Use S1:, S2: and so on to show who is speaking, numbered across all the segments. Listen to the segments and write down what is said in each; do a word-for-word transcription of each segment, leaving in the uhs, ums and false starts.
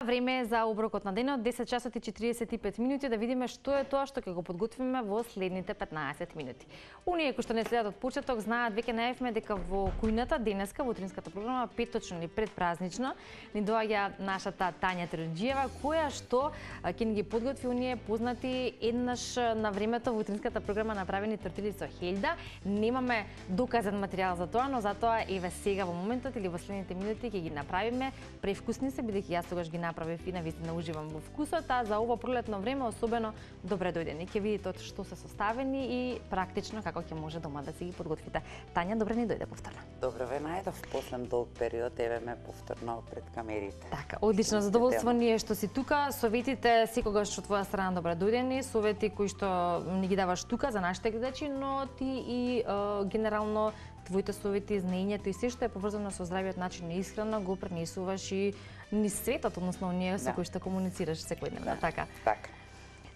S1: Време е за оброкот на денот, десет часот и четириесет и пет минути, да видиме што е тоа што ќе го подготвиме во следните петнаесет минути. Оние кои што не следат од почеток знаат, веќе најавивме дека во кујната денеска во утринската програма петочно или предпразнично ни доаѓа нашата Тања Теруџиева, која што ќе ни ги подготви оние познати еднаш на времето во утринската програма направени тортили со хелда. Немаме доказан материјал за тоа, но затоа еве сега во моментот или во следните минути ќе ги направиме. Превкусни се, бидејќи јас тогаш ги направив и навистина уживам во вкусот, а за ова пролетно време особено добре дојдени. Ќе видите од што се составени и практично како ќе може дома да си ги подготвите. Тања, добре ни дојде повторно.
S2: Добро ве најдов после долг период, еве ме повторно пред камерите.
S1: Така, одлично, задоволство ни е што си тука. Советите секогаш од твоја страна добре дојдени, совети кои што ни ги даваш тука за нашите гледачи, но ти и е, генерално твоите совети, знаењето и се што е поврзано со здравиот начин на исхрана го пренесуваш и низ светот, односно оние со кои што комуницираш секојдневно,
S2: да,
S1: така.
S2: Така.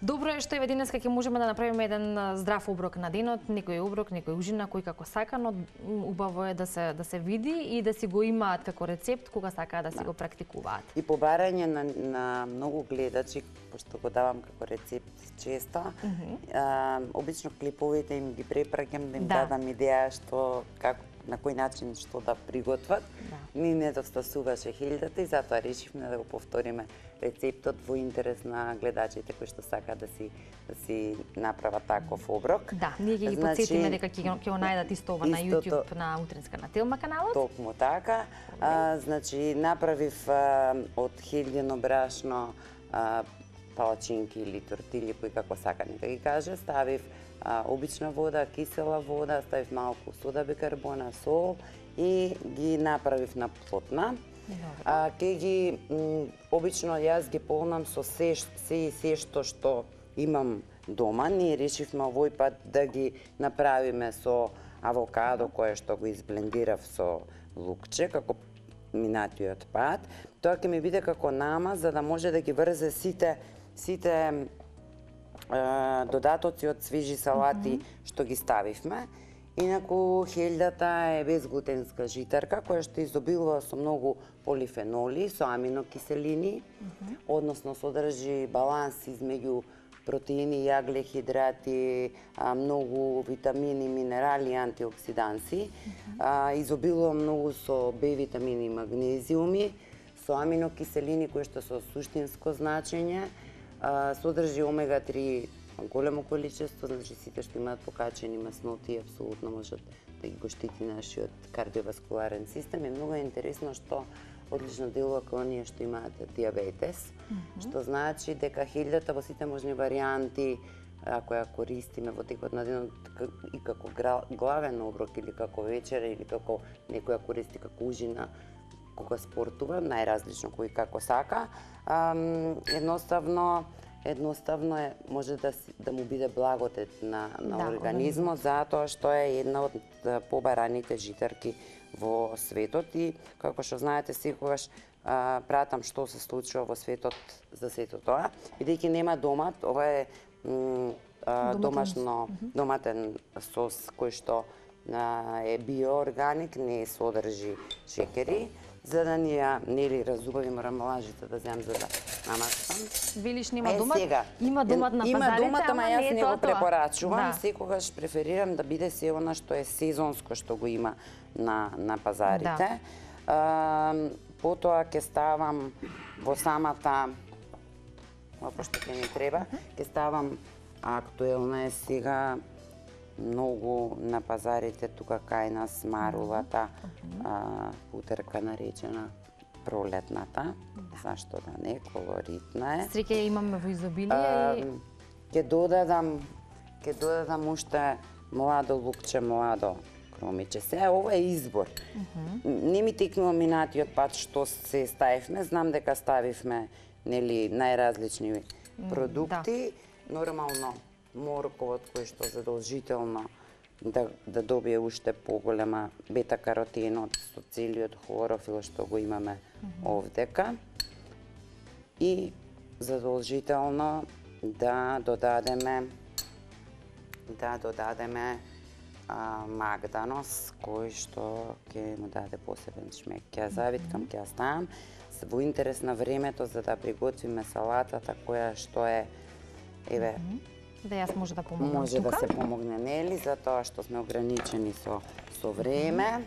S1: Добро е што еве денеска ќе можеме да направиме еден здрав оброк на денот, некој оброк, некој ужина, кој како сака, но убаво е да се да се види и да си го имаат како рецепт кога сакаат да си да. го практикуваат.
S2: И по барање на, на многу гледачи, пошто го давам како рецепт често, mm -hmm. а, обично клиповите им ги препраќам да им да. дадам идеја што како на кој начин што да приготват. Да. Ни недостасуваше хелдата и затоа решивме да го повториме рецептот во интерес на гледачите кои што сакаат да си да си направат таков оброк.
S1: Да, ние ќе ги значи, потсетиме дека ќе ќе го најдат исто ова на YouTube на Утринска на Телма каналот.
S2: Токму така. А, значи направив а, од хелдено брашно а, палачинки или тортили, кои како сака нека ги каже, ставив а, обична вода, кисела вода, ставив малку сода бикарбона, сол и ги направив на плотна. А, ке ги, м, обично јас ги полнам со се, се и се што што имам дома. Ние решивме овој пат да ги направиме со авокадо, кое што го изблендирав со лукче, како минатиот пат. Тоа ќе ми биде како намаз, за да може да ги врзе сите сите е, додатоци од свежи салати mm -hmm. што ги ставивме. Инаку хелдата е безглутенска житарка која што изобилува со многу полифеноли, со аминокиселини, mm -hmm. односно содржи баланс измеѓу протеини, јагле-хидрати, многу витамини, минерали и антиоксиданси. Mm -hmm. Изобилува многу со Б витамини и магнезиуми, со аминокиселини кои што со суштинско значење, содржи омега три големо количество, значи сите што имаат покачени масноти апсолутно можат да ги го штити нашиот кардиоваскуларен систем. И многу е интересно што одлично делува кон оние што имаат диабетес, mm -hmm. што значи дека хелдата во сите можни варијанти, ако ја користиме во текот на денот и како главен оброк или како вечера или како некој ја користи како ужина кога спортува, најразлично кој како сака, едноставно едноставно е може да да му биде благодет на на да, организмот, затоа што е една од побараните житарки во светот и како што знаете секогаш а, пратам што се случува во светот за сето тоа, бидејќи нема домат, ова е а, домашно доматен сос кој што а, е биоорганик, не содржи шекери. За да ни ја нели разубави, морам лажите да земам за да намастам.
S1: Велиш нема домат? Сега, има домат на пазарите,
S2: има домат, ама јас не го препорачувам.
S1: Да.
S2: Секогаш преферирам да биде се она што е сезонско што го има на на пазарите. Да. А, потоа ќе ставам во самата опа што ќе ми треба, ќе ставам актуелна е сега многу на пазарите тука кај нас марулата, а, утерка наречена пролетната, зашто да не, колоритна е.
S1: Среќа ја имаме во изобилие и
S2: ќе додадам ќе додадам уште младо лукче, младо кромиче. Се ова е избор. Uh -huh. Не ми текнува минатиот пат што се ставивме, знам дека ставивме нели најразлични продукти, да. Нормално морковот кој што задолжително да, да добие уште поголема бета-каротенот со целиот хлорофил што го имаме mm -hmm. овдека. И задолжително да додадеме да додадеме а, магданос кој што ќе му даде посебен шмек. Ќе ја завиткам, ќе ја ставам. во интерес на времето за да приготвиме салатата која што е еве
S1: да јас може да помогнам
S2: може
S1: тука.
S2: да се помогне, нели, затоа што сме ограничени со со време.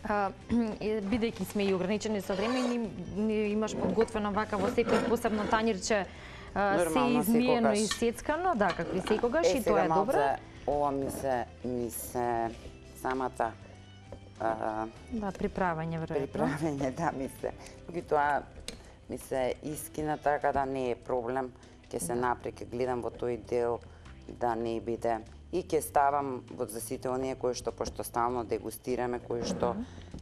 S1: А, бидејќи сме и ограничени со време, ни, ни имаш подготвено вака во секој посебно тањирче се измиено и сецкано, да, како и секогаш, и тоа е добро.
S2: Ова ми се ми се самата а,
S1: да, приправање веројатно.
S2: Приправање, да, ми се. Тоа ми се искина, така да не е проблем. Ќе се напре, ќе гледам во тој дел да не биде. И ќе ставам во за сите оние кои што пошто стално дегустираме, кои што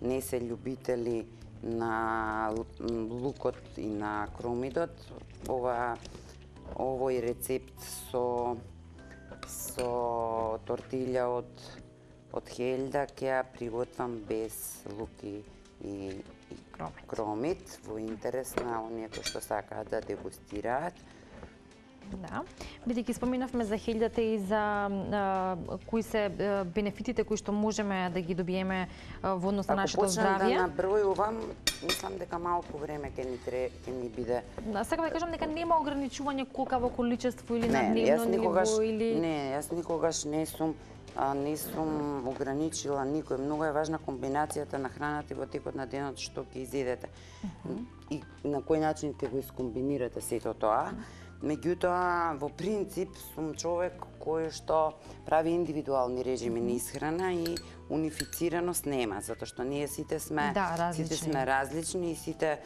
S2: не се љубители на лукот и на кромидот. Ова овој рецепт со со тортилја од од хелда ќе ја приготвам без лук и, и, и
S1: кромит.
S2: кромит во интерес на оние кои што сакаат да дегустираат.
S1: Да, бидејќи споминавме за хелдата и за а, кои се а, бенефитите кои што можеме да ги добиеме а, во однос на нашето здравје.
S2: Ако почнам да набројувам, мислам дека малку време ќе ни тре, ќе ни биде.
S1: Да, сакам да кажам дека нема ограничување колкаво количество или на
S2: не,
S1: дневно
S2: јас никогаш,
S1: ниво или
S2: не, јас никогаш не сум а, не сум ограничила никој. Многу е важна комбинацијата на храната во текот на денот што ќе изедете. Uh -huh. И на кој начин ќе го искомбинирате сето тоа. Меѓутоа, во принцип, сум човек кој што прави индивидуални режими на исхрана и унифицираност нема, затоа што ние сите сме
S1: да,
S2: сите сме различни и сите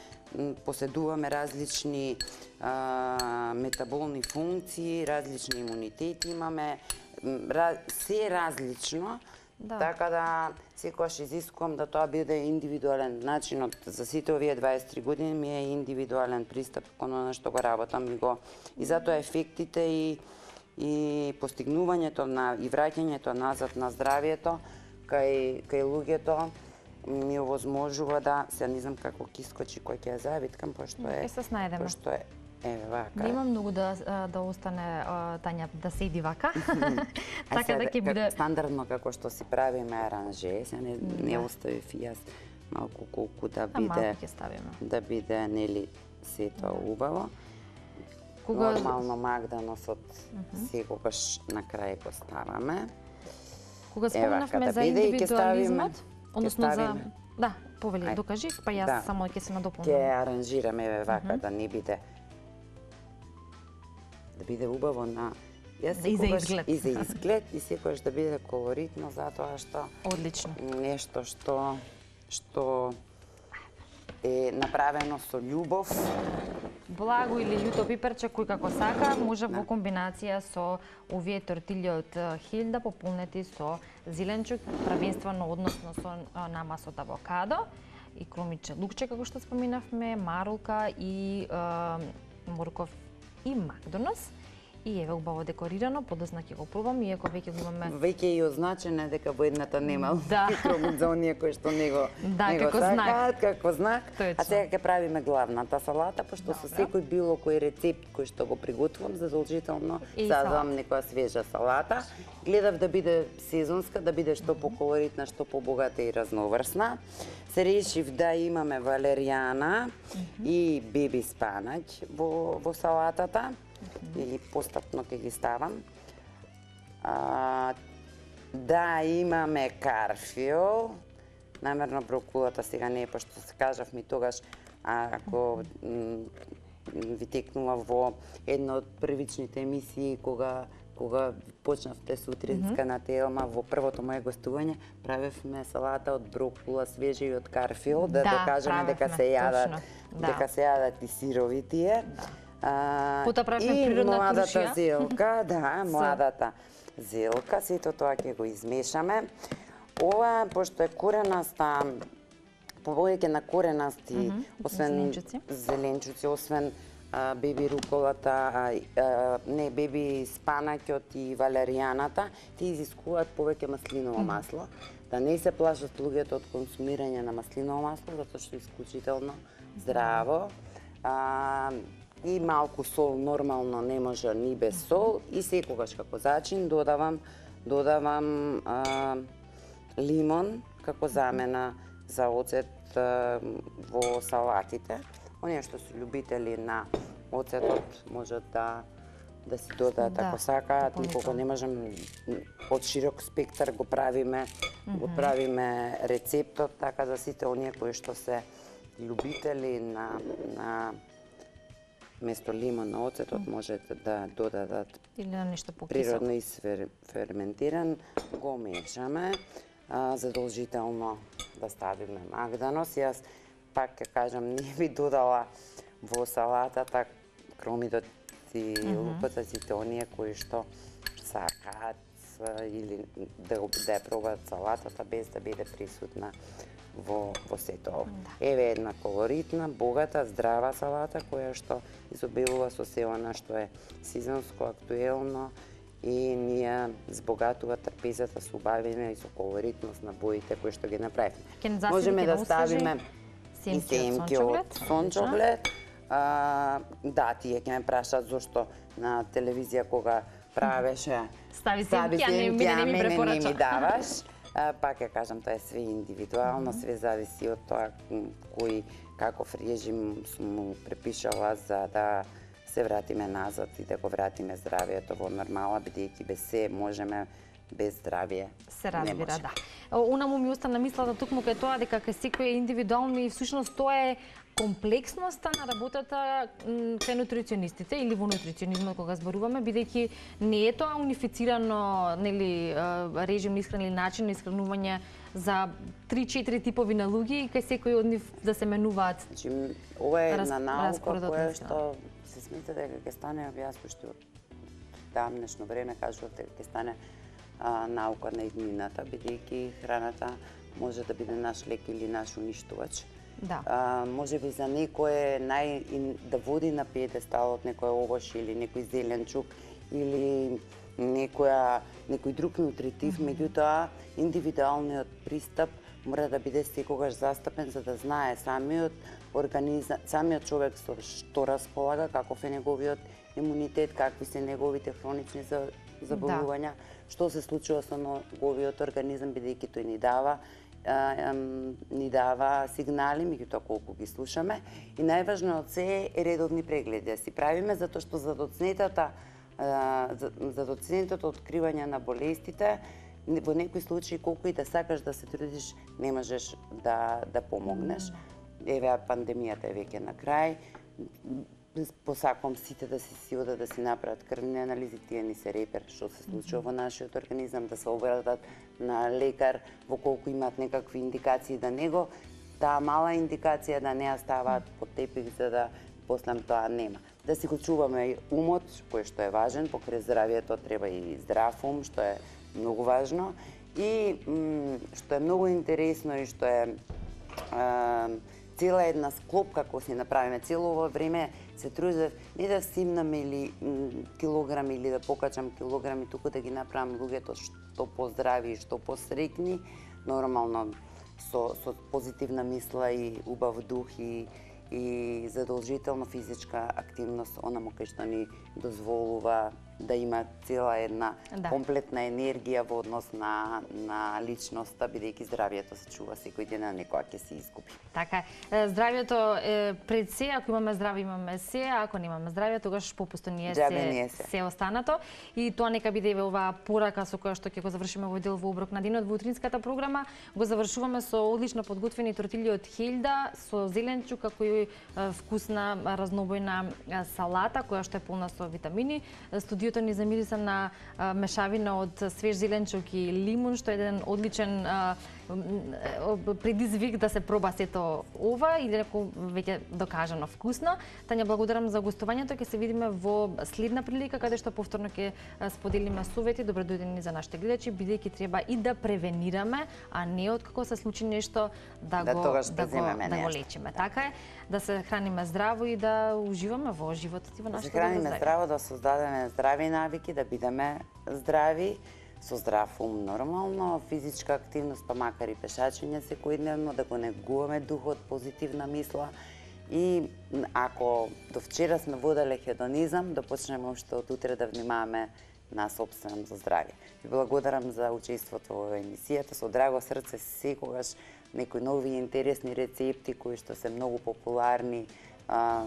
S2: поседуваме различни а, метаболни функции, различни имунитети имаме, раз, се различно. Да. Така да секогаш изискувам да тоа биде индивидуален начинот. За сите овие дваесет и три години ми е индивидуален пристап кон она што го работам и го и затоа ефектите и и постигнувањето на и враќањето назад на здравието кај кај луѓето ми овозможува да се не знам како ќе искочи кој ќе ја завиткам пошто е.
S1: Ќе се снајдеме.
S2: Пошто е еве вака.
S1: Нема многу да да остане Тања да седи вака. Така да ќе биде
S2: стандардно како што си правиме аранже, се не не оставив и јас малку колку да биде да биде нели сето убаво. Кога нормално магданосот секогаш на крај го ставаме.
S1: Кога спомнавме за индивидуализмот, односно за да, повели, докажи, па јас само ќе се надополнам.
S2: Ќе аранжираме еве вака да не биде да биде убаво на јас
S1: и за изглед.
S2: И за изглед и секогаш да биде колоритно затоа што
S1: одлично.
S2: Нешто што што е направено со љубов.
S1: Благо или љуто пиперче кој како сака, може во комбинација со овие тортилји од хелда пополнети со зеленчук, правенствено односно со намаз од авокадо и кромиче лукче како што споминавме, марулка и е, морков и макдонос. И еве убаво декорирано, подосна ќе го пробам, иако веќе го имаме.
S2: Веќе и означено дека во едната нема
S1: да.
S2: кромит за оние кои што не го
S1: да,
S2: не
S1: како
S2: го сакаат,
S1: знак.
S2: како знак.
S1: Точно.
S2: А сега ќе правиме главната салата, пошто Добре. Со секој било кој рецепт кој што го приготвувам, задолжително сазвам некоја свежа салата. Гледав да биде сезонска, да биде што поколоритна, што побогата и разноврсна. Се решив да имаме валеријана mm -hmm. и беби спанаќ во во салатата. Или постапно ќе ги ставам. А, да, имаме карфиол. Намерно брокулата сега не е, пошто се кажав ми тогаш, а, ако ви текнува во една од првичните емисии, кога кога почнавте сутринска mm -hmm. на Телма, во првото моје гостување, правевме салата од брокула, свежа и од карфиол, да, да докажеме дека се јадат, да. дека се јадат и сирови тие. Да. А,
S1: Пота правиме природна
S2: туршија. И младата
S1: туршија.
S2: зелка, да, младата зелка, сето тоа ќе го измешаме. Ова, пошто е коренаста, повеќе на коренасти, mm -hmm. освен
S1: зеленчуци,
S2: зеленчуци освен а, беби руколата, а, а, не, беби спанаќот и валеријаната, ти изискуваат повеќе маслиново mm -hmm. масло. Да не се плашат луѓето од консумирање на маслиново масло, затоа што е исклучително здраво. А, и малку сол, нормално не може ни без сол, и секогаш како зачин додавам додавам а, лимон како замена за оцет во салатите. Оние што се љубители на оцетот можат да да си додаат ако сакаат, никога не можам од широк спектар го правиме, го правиме рецептот, така за сите оние кои што се љубители на на место лимон на оцетот можете да додадат
S1: или на нешто покисело.
S2: Природно исферментиран, го мешаме, а, задолжително да ставиме магданос. Јас пак ќе кажам, не би додала во салатата кромидот и луката, сите оние кои што сакаат или да, да ја пробаат салатата без да биде присутна во, во сето ова. Да. Еве една колоритна, богата, здрава салата која што изобилува со се она што е сезонско, актуелно и ние збогатува трпезата со убавина и со колоритност на боите кои што ги направивме. Можеме да ставиме и семки од сончоглед. А, да, тие ќе ме прашаат зошто на телевизија кога правеше
S1: стави семки, а не, не ми препорача.
S2: Не ми даваш. А, пак ја кажам, тоа е све индивидуално, све зависи од тоа кој каков режим му препишала за да се вратиме назад и да го вратиме здравието во нормала, бидејќи без се можеме, без здравие
S1: се разбира, да. Унаму ми остана мислата токму кај тоа дека кај секој е индивидуално и всушност тоа е комплексноста на работата кај нутриционистите или во нутриционизмот кога зборуваме, бидејќи не е тоа унифицирано, нели, режим на исхрана или начин на исхранување за три-четири типови на луѓе и кај секој од нив да се менуваат.
S2: Значи, ова е една наука која што се смета дека ќе стане, јас уште од давнешно време кажував дека ќе стане а, наука на иднината, бидејќи храната може да биде наш лек или наш уништувач.
S1: Да.
S2: А, може би за некој нај да води на пиедесталот некој овош или некој зеленчук или некоја некој друг нутритив, mm -hmm. меѓутоа индивидуалниот пристап мора да биде секогаш застапен за да знае самиот организам, самиот човек со што располага, каков е неговиот имунитет, какви се неговите хронични заболувања, да. Што се случува со неговиот организам, бидејќи тој ни дава ни дава сигнали, меѓутоа колку ги слушаме. И најважно од се е редовни прегледи да си правиме, затоа што за доцнетата за доцнетото откривање на болестите, во некои случаи колку и да сакаш да се трудиш, не можеш да да помогнеш. Еве пандемијата е веќе на крај. Посакувам сите да си си одат да си направат крвни анализи, тие ни се репер што се случува во нашиот организам, да се обратат на лекар во колку имаат некакви индикации да него, таа мала индикација да не ја ставаат под тепих за да после тоа нема. Да си го чуваме умот, кој што е важен, покрај здравието треба и здрав ум, што е многу важно. И што е многу интересно и што е цела една склопка која си направиме цело ово време, се трудев не да симнам или килограми или да покачам килограми, туку да ги направам луѓето што поздрави и што посрекни, нормално со, со позитивна мисла и убав дух и, и задолжително физичка активност, онаму кај што ни дозволува да има цела една да. комплетна енергија во однос на, на личноста, бидејќи здравието се чува секој ден, а некоја ќе се изгуби.
S1: Така е. Здравието е пред се, ако имаме здраве, имаме се, а ако немаме здравие, тогаш попусто ни е се, се. се останато. И тоа нека биде оваа порака со која што ќе го завршиме овој дел во оброк на денот во утринската програма. Го завршуваме со одлично подготвени тортилји од Хелда, со зеленчук, како и вкусна разнобојна салата, која што е полна со витамини. Студиото ни замириса на а, мешавина од свеж зеленчук и лимун, што е еден одличен а, предизвик да се проба сето ова и дека веќе докажано вкусно. Тања, благодарам за гостувањето. Ќе се видиме во следна прилика каде што повторно ќе споделиме совети. Добро дојдени за нашите гледачи, бидејќи треба и да превенираме, а не откако се случи нешто да,
S2: да
S1: го
S2: да
S1: го, да го лечиме. Така е, да се храниме здраво и да уживаме во животот и во нашето
S2: здравје. Да се храниме здраво, да создадеме здрави навики, да бидеме здрави, со здрав ум нормално, физичка активност, па макар и пешачење секојдневно, да го негуваме духот, позитивна мисла и ако до вчера сме воделе хедонизам, да почнеме уште од утре да внимаваме на собствено здравје. Ви благодарам за учеството во емисијата, со драго срце секогаш некои нови интересни рецепти кои што се многу популарни а,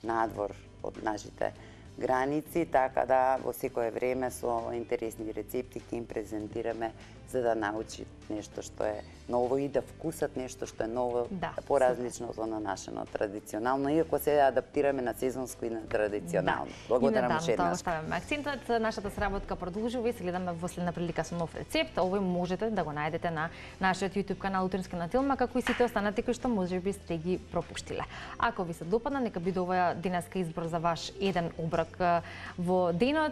S2: надвор од нашите граници, така да во секое време со интересни рецепти ќе им презентираме за да научат нешто што е ново и да вкусат нешто што е ново,
S1: да,
S2: поразлично од на нашето традиционално, иако се адаптираме на сезонско и на традиционално.
S1: Да.
S2: Благодарам
S1: уште
S2: уште еднаш.
S1: Ставаме акцентот, нашата сработка продолжува и се гледаме во следна прилика со нов рецепт. Овој можете да го најдете на нашиот YouTube канал Утринска на Тилма, како и сите останати кои што можеби сте ги пропуштиле. Ако ви се допадна, нека биде ова денеска избор за ваш еден оброк во денот.